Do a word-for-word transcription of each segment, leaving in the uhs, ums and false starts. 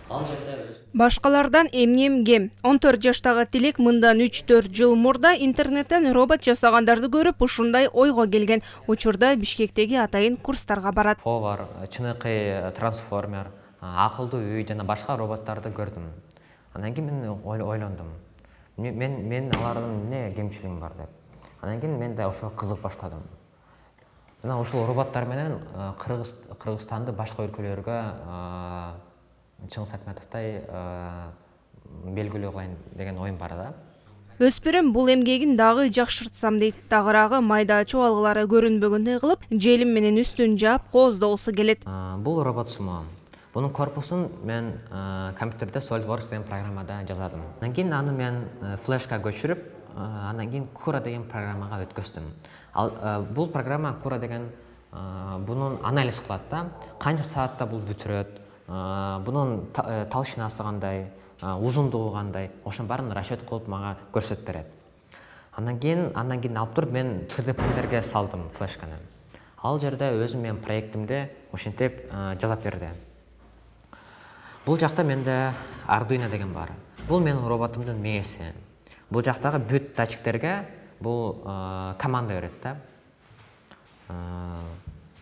Ал жерде Башкалардан эмнем кем. он төрт жаштагы Тилек мындан үч төрт жыл мурда интернеттен робот жасагандарды көрүп ушундай ойго келген. Учурда Бишкектеги атайын курстарга барат. Повар, чыныкай трансформер, акылдуу үй жана башка роботторду көрдүм. Андан кийин мен ойлондум. Мен мен алардын эмне кемчилигим бар деп. Андан кийин мен да ошого кызык баштадым. Жана ушул роботтор менен Кыргыз Кыргызстанды башка өлкөлөргө Чыңгыз Айтматовтой белгилүү кылайын деген оюм бар да. Өспүрүм бул эмгегин дагы жакшыртсам дейт. Тагыраагы майда чубалгылары көрүнбөгөндөй кылып, желим менен үстүн жаап кооздогусу келет. Бул робот сумма. Бунун корпусун мен компьютерде SolidWorks деген программада жазадым. Андан кийин аны мен флешка көчүрүп, андан кийин Cura деген программага өткөздүм. Ал бул программа Cura деген бунун анализ кылат да. Канча саатта бул бүтүрөт, бунун талшынасы кандай, узундугу кандай, ошонун баарын расчет кылып мага көрсөтүп берет. Андан кийин андан кийин алып туруп мен три дэ принтерге салдым флешканы. Ал жерде өзүм менин проектимди ошентип жазап берди. Бул жакта менде Arduino деген бар. Бул менин роботумдун мээси. Бул жактагы бүт датчиктерге бул команда берет да.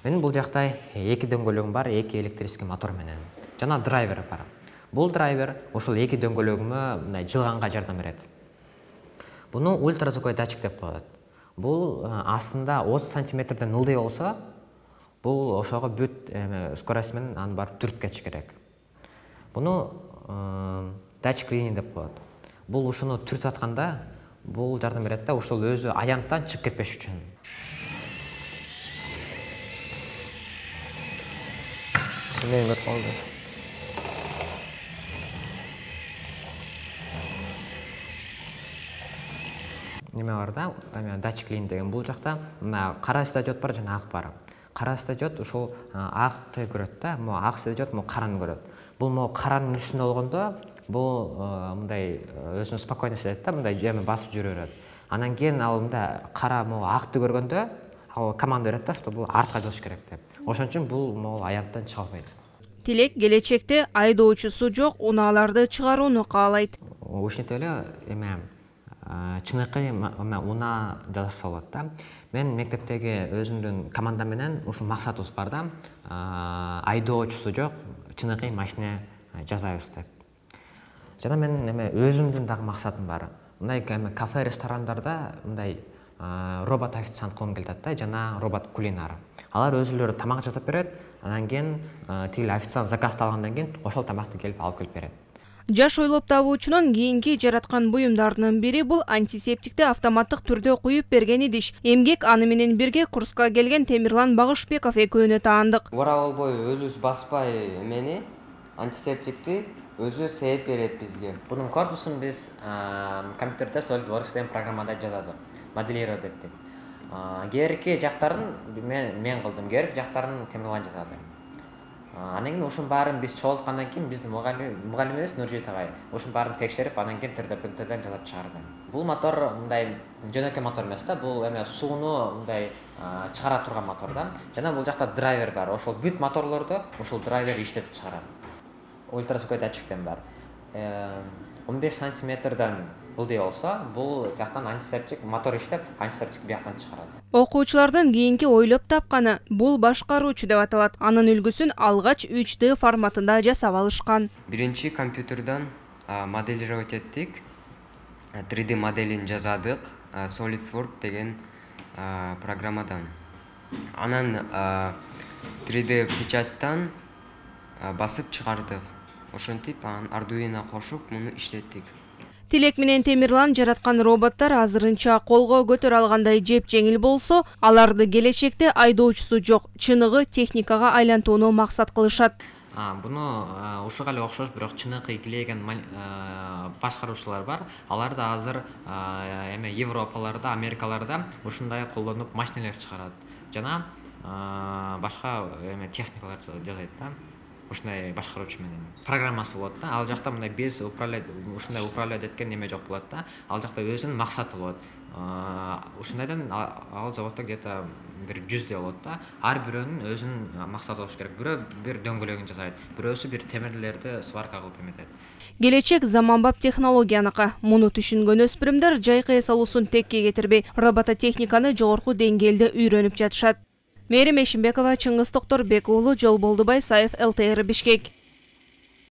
Менин бул жакта эки дөңгөлөгүм бар, эки электрический мотор менен. Жана драйвер бар. Бул драйвер ушул эки дөңгөлөгүмө мындай жылганга жардам берет. Буну ультразвуковой датчик деп коет. Бул астында отуз сантиметрден ылдый болсо, бул ошого бүт скорость менен аны барып түртүп кетиш керек. Буну датчик линия деп коет. Бул ушуну түртүп атканда бул жардам берет да, ушул өзү аянттан чыгып кетпеш үчүн. Мен көрүп калдым. Неме бар да, датчик линия деген бул жакта мына кара светодиод бар жана ак бар. Кара светодиод ушул акты көрөт да, могу ак светодиод могу караны көрөт. Бул могу каранын үстүндө болгондо бул мындай өзүнүн спокойно сезет да, мындай эме басып жүрө берет. Андан кийин ал мындай кара могу акты көргөндө ал команда берет да, что бул артка жылыш керек деп. Ошон үчүн бул могу аянттан чыга албайт. Тилек келечекте айдоочусу жок унааларды чыгарууну каалайт. Ушинтип эле эме чыныкай унаа жасаса болот да. Мен мектептеги өзүмдүн командам менен ушул максатыбыз бар да, айдоочусу жок чыныкай машина жасайбыз деп. Жана мен эме өзүмдүн дагы максатым бар. Мындай кафе, ресторандарда мындай робот официант кылгым келет да, жана робот кулинар. Алар өзүлөрү тамак жасап берет, андан кийин тиги официант заказды алгандан кийин ошол тамакты келип алып келип берет. Жаш ойлоп табуучунун кийинки жараткан буюмдарынын бири бул антисептикти автоматтык түрдө куюп берген идиш. Эмгек аны менен бирге курска келген Темирлан Багышбеков экөөнө таандык. Бара болбой өзүбүз баспай эмени антисептикти өзү сээп берет бизге. Бунун корпусун биз компьютерде SolidWorks деген программада жаздык, моделировать эттик. Кээрки жактарын мен мен кылдым, кээрки жактарын Темирлан жасады. Андан кийин ушунун баарын биз чогулткандан кийин биздин мугалимибиз Нуржит агай ушунун баарын текшерип, андан кийин три дэ принтерден жасап чыгарды. Бул мотор мындай жөнөкөй мотор эмес да, бул эме сууну мындай чыгара турган мотор да. Жана бул жакта драйвер бар. Ошол бүт моторлорду ушул драйвер иштетип чыгарат. Ультразвуковой датчиктен бар. он беш сантиметрден ылдый болсо, бул жактан антисептик мотор иштеп, антисептик бияктан чыгарат. Окуучулардын кийинки ойлоп тапканы бул башкаруучу деп аталат. Анын үлгүсүн алгач үч дэ форматында жасап алышкан. Биринчи компьютерден моделировать эттик. три дэ моделин жазадык, SolidWorks деген программадан. Анан три дэ печаттан басып чыгардык. Ошентип анан Arduino кошуп муну иштеттик. Тилек менен Темирлан жараткан роботтор азырынча колго көтөрө алгандай жеп жеңил болсо, аларды келечекте айдоочусу жок, чыныгы техникага айлантууну максат кылышат. Буну ушуга эле окшош, бирок чыныгы килейген башкаруучулар бар. Алар да азыр эме Европаларда, Америкаларда ушундай колдонуп машиналар чыгарат. Жана башка эме техникалар жасайт да. ушундай башкаруучу менен программасы болот да. Ал жакта мындай без управлять ушундай управлять эткен неме жок болот да. Ал жакта өзүнүн максаты болот. Ушундайдан ал заводдо где-то бир жүздөй болот да. Ар бирөөнүн өзүнүн максаты болуш керек. Бирөө бир дөңгөлөгүн жасайт, бирөөсү бир темирлерди сварка кылып эметет. Келечек заманбап технологияныкы. Муну түшүнгөн өспүрүмдөр жайкы эс алуусун текке кетирбей, робототехниканы жогорку деңгээлде үйрөнүп жатышат. Мээрим Эшимбекова, Чыңгыз Токторбек уулу, Жолболдубай Саев, эл тэ эр Бишкек.